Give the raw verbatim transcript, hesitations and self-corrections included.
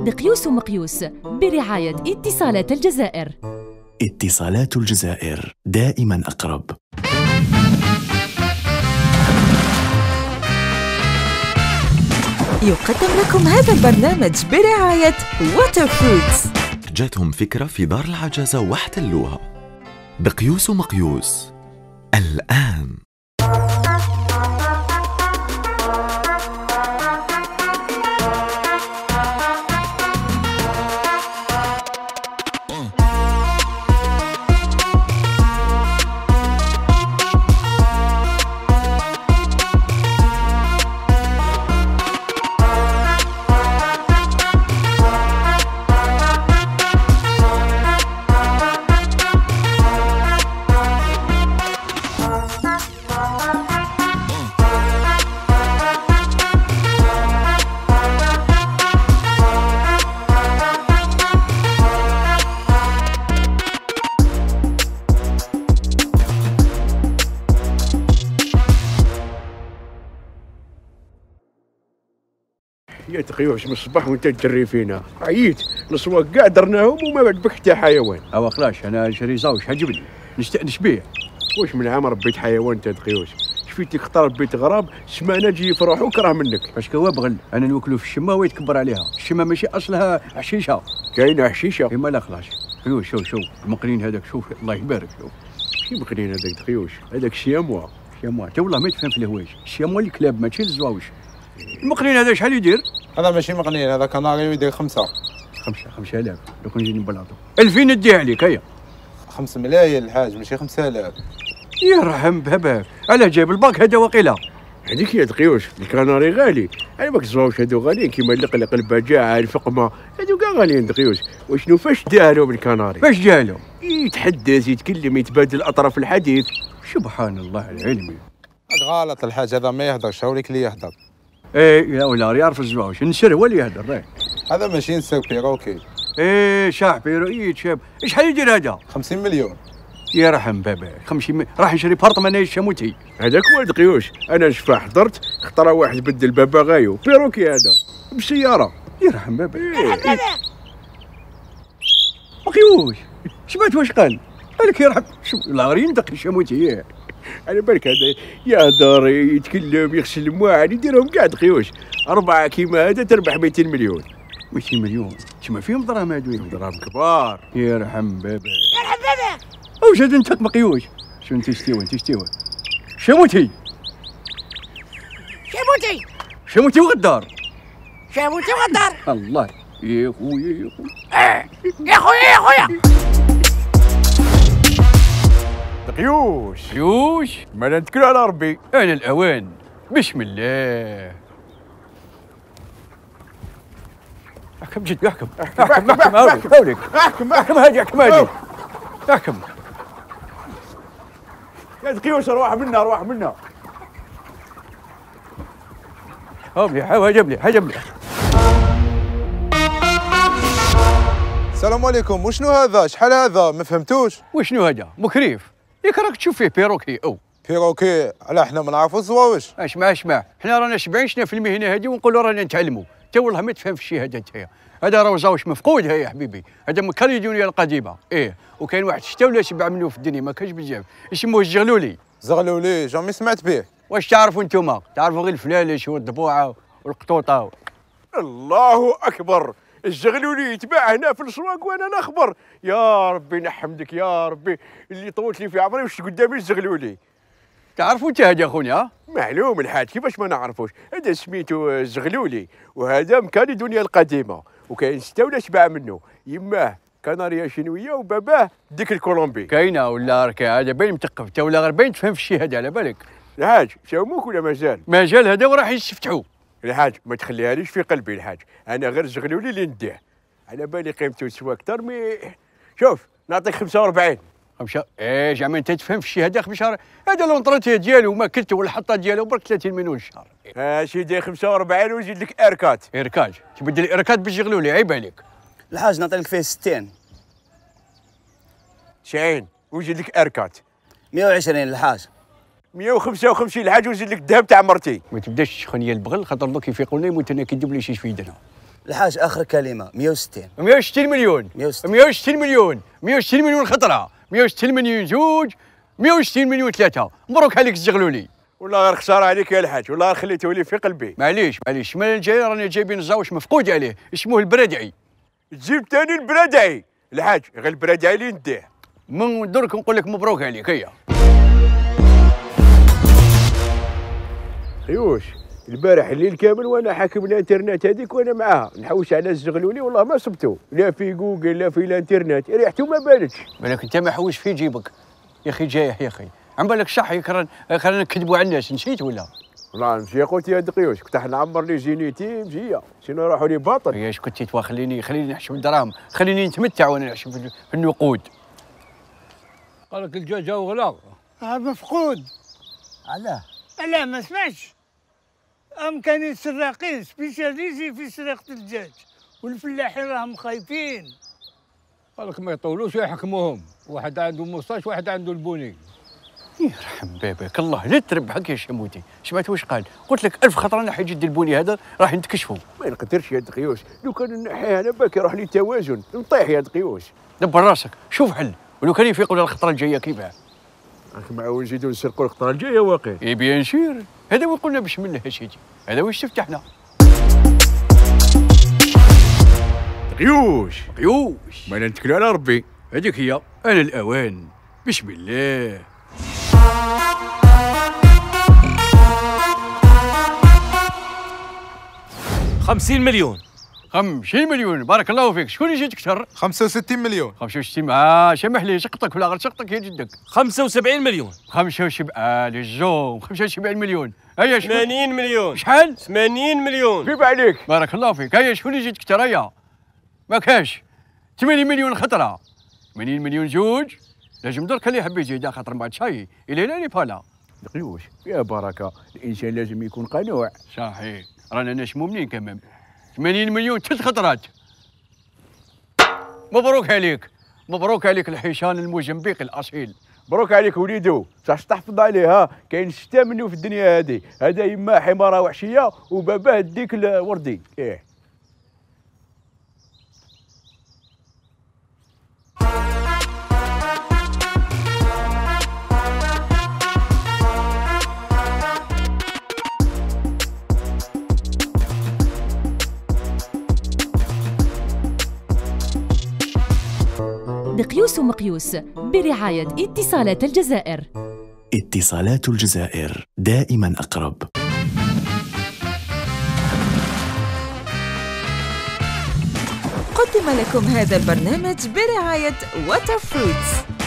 دقيوس ومقيوس برعاية اتصالات الجزائر. اتصالات الجزائر دائما أقرب. يقدم لكم هذا البرنامج برعاية واتر فروتس. جاتهم فكرة في دار العجزة واحتلوها. دقيوس ومقيوس الآن. يا تقيوش من الصباح وانت تجري فينا، عييت الاسواق كاع درناهم وما بعد بك حتى حيوان. اوا خلاص انا شري زاوج عجبني نستانس بيه. واش من عام ربيت حيوان انت تقيوش؟ شفيتك اختار بيت غراب سمانه تجي يفرح وكره منك. باش كوا بغل انا نوكلو في الشمه ويتكبر عليها، الشمه ماشي اصلها حشيشه. كاينه حشيشه؟ اما لا خلاص. شوف شوف شوف المقرين هذاك، شوف الله يبارك. شوف شي مقرين هذاك تقيوش؟ هذاك الشياموا. الشياموا انت والله ما تفهم في الهوايج، الشياموا الكلاب ماشي الزواوج. المقرين هذا شحال يدير؟ هذا ماشي مقنين، هذا كناري ويدير خمسة. خمسة خمسة آلاف، لو كون نجي نبلاطو. ألفين نديها عليك هيا. خمس ملايين الحاج ماشي خمسة آلاف. يرحم باباك، علاه جايب الباك هذا وقيله. هذيك يا تقيوش، الكناري غالي، على بالك الزواوج هذو غاليين كيما اللقلق البجاعة الفقمة، هذو كاع غاليين تقيوش، وشنو فاش داهلو بالكناري؟ فاش داهلو؟ يتحدث يتكلم يتبادل أطراف الحديث. سبحان الله العلمي. هذا غلط الحاج، هذا ما يهدرش، هاوليك اللي يهدر. ايه يا ولا يعرف الزواوج، النسر هو اللي يهدر. هذا ماشي نسر بيروكي. ايه شاح بيروكي شاب، شحال يدير هذا؟ خمسين مليون. يرحم باباك، خمسين مليون راح نشري بارطمان الشموتي. هذاك هو دقيوش، انا نشفى حضرت اخترى واحد بدل باباغايو بيروكي هذا بسياره. يرحم باباك. إيه. إيه. مقيوش سمعت واش قال؟ قالك يرحم شوف العارين دق الشموتي. على بالك هذا يهدر يتكلم يغسل المواعن يديرهم كاع دقيوش، أربعة كيما هذا تربح مئتين مليون. مئتين مليون تما فيهم دراهم هادو، دراهم كبار. يرحم باباك. يرحم باباك. واش هذا انت مقيوش؟ شو انت شتيوه انت شتيوه؟ شموتي شموتي شموتي وغدار شموتي وغدار. الله يا خويا يا خويا. اه يا خويا يا خويا. دقيوش دقيوش مالا نتكلوا على ربي. انا الاوان بسم الله. احكم جد احكم احكم احكم احكم هاوليك احكم احكم هادي احكم هادي احكم يا دقيوش روح منا روح منا. هاولي هاجب لي هاجب لي. السلام عليكم، وشنو هذا؟ شحال هذا؟ ما فهمتوش. وشنو هذا؟ مكريف ياك راك تشوف فيه بيروكي او بيروكي؟ علاه حنا ما نعرفوا الزواوج. اسمع اسمع، حنا رانا سبعين سنه في المهنه هذه ونقولوا رانا نتعلموا، انت والله ما تفهم في الشيء هذا انت. هذا راه زاوج مفقود هيا حبيبي، هذا من كاليدونيا القديمه. ايه وكاين واحد ستة ولا سبعة منه في الدنيا ما كاينش بزاف، يسموه الزغلولي. زغلولي جامي سمعت به. واش تعرفوا انتوما؟ تعرفوا غير الفلالش والضبوعه والقطوطه. الله اكبر، الزغلولي يتباع هنا في الاسواق وانا نخبر. يا ربي نحمدك يا ربي اللي طولت لي في عمري وش قدامي الزغلولي. تعرفوا انت هذا خويا؟ معلوم الحاج، كيفاش ما نعرفوش؟ هذا سميتو الزغلولي وهذا من كاليدونيا القديمه، وكاين ستة ولا سبعة منه، يماه كناريا شينويه وباباه ديك الكولومبي. كاينه ولا راك هذا باين مثقف انت ولا غير باين تفهم في الشيء هذا على بالك. الحاج شاوموك ولا مازال؟ مازال هذا وراح يستفتحوا. الحاج ما تخليها ليش في قلبي الحاج، انا غير الزغلولي اللي نديه، على بالي قيمته تسوى اكثر. مي شوف نعطيك خمسة وأربعين. خمسة ايه زعما انت تفهم في الشيء هذا خمسة، هذا لونطرونتي ديالو ما كلته ولا الحطه ديالو برك ثلاثين مليون الشهر. ها سيدي خمسة وأربعين ونزيد لك اركات. اركاج تبدل الاركات بالزغلولي عيب عليك. الحاج نعطي لك فيه ستين. تسعين ونزيد لك اركات. مئة وعشرين الحاج. مئة وخمسة وخمسين الحاج ونزيد لك الذهب تاع مرتي. ما تبداش تخني البغل خاطر دوك يفيقوا لنا يموت انا كيدوب لي شي في يدنا. الحاج اخر كلمه مئة وستين. مئة وستين مليون. مئة وستين. مئة وستين مليون. مئة وستين مليون خطره. مئة وستين مليون زوج. مئة وستين مليون ثلاثه. مبروك عليك الزغلولي. والله غير خساره عليك يا الحاج، والله غير خليته لي في قلبي. معليش معليش، الشمال الجاي رانا جايبين الزاوش مفقود عليه، اسمه البرادعي. تجيب ثاني البرادعي الحاج، غير البرادعي اللي نديه. من درك نقول لك مبروك عليك. هيا خيوش، البارح الليل كامل وانا حاكم الانترنت هذيك وانا معاها نحوش على الزغلولي، والله ما صبتو لا في جوجل لا في الانترنت، ريحته ما بالتش. بالك انت ما حوش في جيبك يا اخي، جايح يا اخي، عم بالك صح يكرن خلينا نكذبوا على الناس، نسيت ولا؟ والله نمشي قلت يا دقيوش، كنت نعمر لي جينيتي مجيه، سينو راحوا لي باطل. ياش كنت توا خليني خليني نحشم الدراهم، خليني نتمتع وانا نحشم في النقود. قال لك الدجاج هو غلا. اه مفقود. علاه؟ لا ما سمعتش. ام كانوا السراقين سبيشاليزي في سرقه الدجاج، والفلاحين راهم خايفين. قال لك ما يطولوش يحكموهم، واحد عنده مصاش واحد عنده البوني. يرحم باباك الله، لا تربحك يا شموتي، سمعت واش قال؟ قلت لك ألف خطره نحي جدي البوني هذا راح نتكشفوا. ما نقدرش يا دقيوش، لو كان نحيه انا باك يروح لي توازن، نطيح يا دقيوش. دبر راسك، شوف حل، ولو كان يفيقوا للخطره الجايه كيفاه؟ راك معاون نزيدو نسرقوا الخطره الجايه واقي. اي بيان سير، هذا وين قلنا بسم الله سيدي، هذا واش تفتحنا. دقيوش دقيوش ما نتكلوا على ربي، هذيك هي، انا الاوان، بسم الله. خمسين مليون. خمسين مليون، بارك الله فيك، شكون اللي جاتك اكثر؟ خمسة وستين مليون. خمسة وستين، اه سمح لي سقطك ولا غير سقطك يا جدك. خمسة وسبعين مليون. خمسة وسبعين، اه للزوم، خمسة وسبعين مليون. هيا شكون؟ ثمانين مليون. شحال؟ ثمانين مليون. كيف عليك؟ بارك الله فيك، هيا شكون اللي جاتك اكثر؟ هيا ما كاش. ثمانين مليون خطره. ثمانين مليون زوج، لازم درك اللي يحب يزيد خاطر بعد شاي الى لا فالا. دقيوش يا بركه، الانسان لازم يكون قنوع. صحيح، رانا ناس مؤمنين كمان. ثمانين مليون ثلاث خطرات. مبروك عليك، مبروك عليك الحيشان الموزمبيقي الاصيل. مبروك عليك وليدو، صح تحفظ عليها، كاين شتا منه في الدنيا هذه، هذا يما حماره وحشيه وباباه الديك الوردي. ايه دقيوس ومقيوس برعاية اتصالات الجزائر. اتصالات الجزائر دائما أقرب. قدم لكم هذا البرنامج برعاية واتر فروتس.